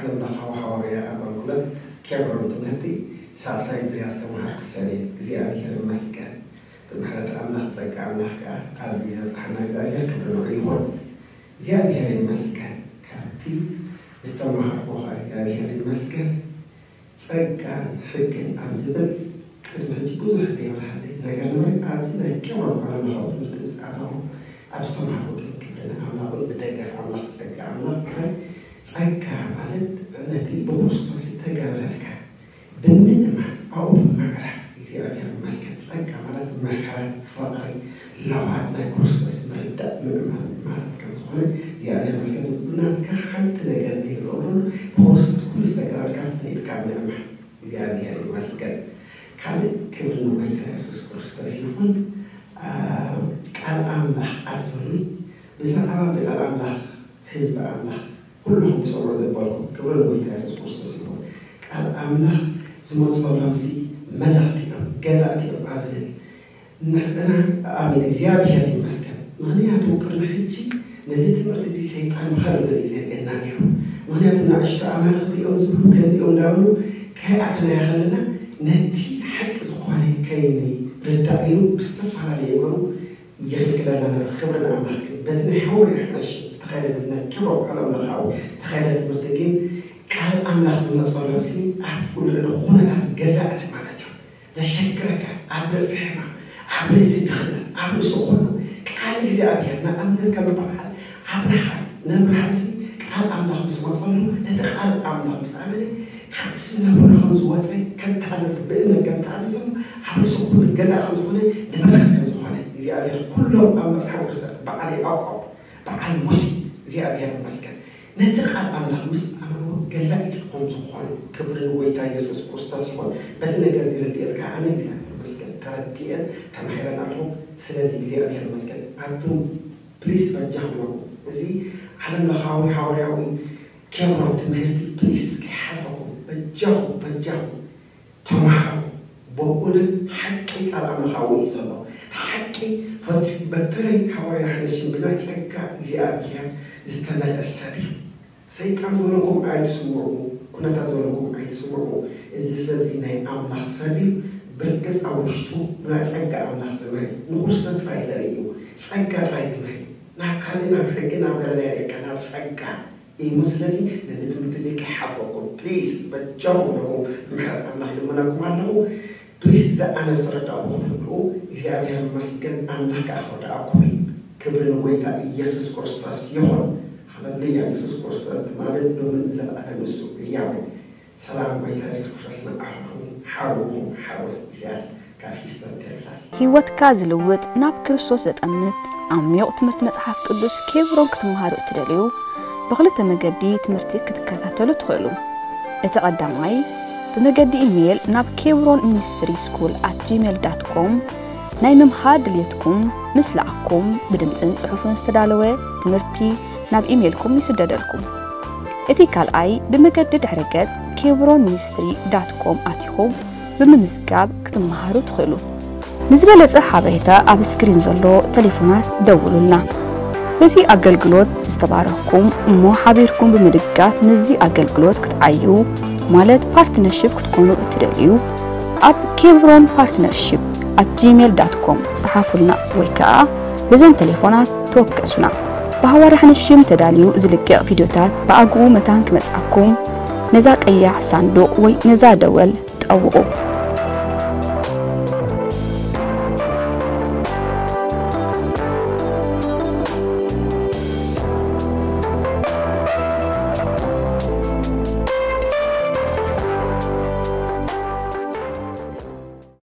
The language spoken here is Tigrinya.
ኣምላኻዊ ሓዋርያ ኣገልግሎት ኬብሮን ትምህርቲ ሳልሳይ ዙርያ ዝተምሃርኩ ሰብ እየ። እግዚኣብሔር ይመስገን። ብምሕረት ኣምላኽ ጸጋ ኣምላኽ ከኣ ኣብዚ ዘብጽሓና እግዚኣብሔር ክብሪ ንዑ ይኹን። እግዚኣብሔር ይመስገን። ካብቲ ዝተምሃርኩ ከኣ እግዚኣብሔር ይመስገን። ጸጋን ሕግን ኣብ ዝብል ቅድሚ ሕጂ ብዙሕ ዘይበሃል ነገር ንርኢ። ኣብዚ ናይ ኬብሮን ዓለምለኻዊ ትምህርቲ ምስ ኣተኹ ኣብ ዝተምሃርኩ ግን ክብሪ ንኣምላኽን ብደገፍ ኣምላኽ ጸጋ ኣምላኽ ጥራይ። ጸጋ ማለት ነቲ ብክርስቶስ ዝተገብረልካ ብምእማን ኣብኡ ብምዕራፍ እግዚኣብሔር ይመስገን። ጸጋ ማለት ምሕረት፣ ፍቕሪ፣ ለውሃት ናይ ክርስቶስ ምርዳእ ምእማን ማለት ከም ዝኾነ እግዚኣብሔር ይመስገን። ብናትካ ሓንቲ ነገር ዘይገብረሉ ብክርስቶስ ኩሉ ዝተገብረልካ ፈሊጥካ ምእማን እግዚኣብሔር ይመስገን። ካልእ ክብሪ ንጎይታ የሱስ ክርስቶስ ይኹን። ቃል ኣምላኽ ኣብዘሉይ ብዛዕባ እዚ ቃል ኣምላኽ ህዝቢ ኣምላኽ ኩልኹም ትሰምዑ ዘበልኩም ክብሪ ንጎይታ የሱስ ክርስቶስ ይኹን። ቃል ኣምላኽ ዝመፀሎምሲ መለኽቲ እዮም፣ ገዛእቲ እዮም። ኣዝልን ንሕና ኣሜን እግዚኣብሔር ይመስገን። ምኽንያቱ ቅድሚ ሕጂ ነዚ ትምህርቲ እዚ ሰይጣን ብኸልእ ገለ እዩ ዘርእየና ነይሩ። ምኽንያቱ ንኣሽቱ ኣማልኽቲ እዮም ዝብሉ ከምዚኦም እንዳበሉ ከይኣተናዮ ከለና ነቲ ሓቂ ዝኾነ ከይንርዳእ ኢሉ ብዝተፈላለየ ነገሩ ይኽልክለና ነይሩ። ክብሪ ንኣምላኽ ግን በዚ ናይ ሓወርያ ሓናሽ ዝተኻየደ በዚ ናይ ኬብሮን ዓለም ለኻዊ ዝተኻየደ ትምህርቲ ግን ቃል ኣምላኽ ዝመፀሎም ሲ ኣብ ኩሉ ኩነታት ገዛእቲ ማለት እዩ። ዘሸግረካ ኣብ ርእሲ ሕማም፣ ኣብ ርእሲ ድኽነት፣ ኣብ ርእሲ ኩሉ ቃል እግዚኣብሔር ንኣብነት ከም በዓል ኣብርሃም ንኣብርሃም ሲ ቃል ኣምላኽ ምስ መፀሉ ነቲ ቃል ኣምላኽ ምስ ኣመነ ካብቲ ዝነብሮ ከም ዝወፀ ከም ተኣዘዘ ብእምነት ከም ተኣዘዘ ኣብ ርእሲ ኩሉ ገዛ ከም ዝኾነ ንብረት ከም ዝኾነ እግዚኣብሔር ኩሎም ኣብ መፅሓፍ ቅዱስ በዓል ያዕቆብ በዓል ሙሴ እግዚኣብሔር ይመስገን ነቲ ቃል ኣምላኽ ምስ ኣመንዎ ገዛኢት ከም ዝኾኑ ክብሪ ንጎይታ ኢየሱስ ክርስቶስ ይኹን። በዚ ነገር እዚ ርድኤት ከዓ ኣነ እግዚኣብሔር ይመስገን ተረዲኤን ተማሂረን ኣለኹ። ስለዚ እግዚኣብሔር ይመስገን። ኣቱም ፕሊስ በጃኹም እዚ ዓለም ለኻዊ ሓዋርያዊ ኬብሮን ትምህርቲ ፕሊስ ከይሓልፈኩም በጃኹም በጃኹም ተማሃሩ። ብእውነት ሓቂ ቃል ኣምላኻዊ እዩ ዘሎ። ሓቂ ፈት በተለይ ሓዋርያ ሓነሽም ብናይ ጸጋ እግዚኣብሔር ዝተመልአ ሰብ እዩ። ሰይጣን ዝበለኩም ኣይትስምዑ፣ ኩነታት ዝበለኩም ኣይትስምዑ። እዚ ሰብ እዚ ናይ ኣምላኽ ሰብ እዩ። ብርግጽ ኣብ ውሽጡ ብናይ ጸጋ ኣምላኽ ዝመሪ ንኹርሰ ጥራይ ዘርኢ እዩ። ጸጋ ጥራይ ዝመሪ ናብ ካልእ ናብ ሕጊ ናብ ገለ ናይ ደቀ ናብ ጸጋ እዩ። ስለዚ ነዚ ትምህርቲ እዚ ከይሓልፈኩም ፕሊስ በጃኹም ኣለኹ ምሕረት ኣምላኽ ይልመነኩም ኣለኹ። ፕሊስ እዛ ኣነ ዝተረዳእኩ ክትርድኡ እግዚኣብሔር ይመስገን። ኣምላኽ ከዓ ክረድኣኩም እዩ። ክብሪ ንጎይታ ኢየሱስ ክርስቶስ ይኹን። ሃለሉያ። ኢየሱስ ክርስቶስ ትማልን ሎምን ንዘለኣለም ንሱ ህያው እዩ። ሰላም ጎይታ የሱስ ክርስቶስ ንዓኹም ሓውኹም ሓጎስ ኢሳያስ ካብ ሂስተን ቴክሳስ። ህይወትካ ዝልውጥ ናብ ክርስቶስ ዘጠምት ዓሚቕ ትምህርቲ መጽሓፍ ቅዱስ ኬብሮን ክትመሃሩ እትደልዩ ብኽልተ መገዲ ትምህርቲ ክትከታተሉ ትኽእሉ። እቲ ቀዳማይ ብመገዲ ኢሜይል ናብ ኬብሮን ሚኒስትሪ ስኩል ኣት ጂሜል ዳት ኮም ናይ ምምሃር ድልየትኩም ምስ ለኣኩም ብድምፅን ፅሑፍን ዝተዳለወ ትምህርቲ ናብ ኢሜይልኩም ይስደደልኩም። እቲ ካልኣይ ብመገዲ ድሕረ ገጽ ኬብሮን ሚኒስትሪ ዳት ኮም ኣቲኹም ብምምዝጋብ ክትመሃሩ ትኽእሉ። ንዝበለጸ ሓበሬታ ኣብ ስክሪን ዘሎ ቴሌፎናት ደውሉልና። በዚ ኣገልግሎት ዝተባረኽኩም እሞ ሓቢርኩም ብምድጋፍ ምስዚ ኣገልግሎት ክትዓዩ ማለት ፓርትነርሺፕ ክትኮኑ እትደልዩ ኣብ ኬብሮን ፓርትነርሺፕ ኣት ጂሜል ዳት ኮም ጸሓፉልና ወይ ከኣ በዘን ቴሌፎናት ተወከሱና። ብሃዋርያ ሓነሽም ተዳልዩ ዝልቀቕ ቪድዮታት ብኣግኡ መታን ክመጽኣኩም ነዛ ቀያሕ ሳንዱቕ ወይ ነዛ ደወል ጠውቑ።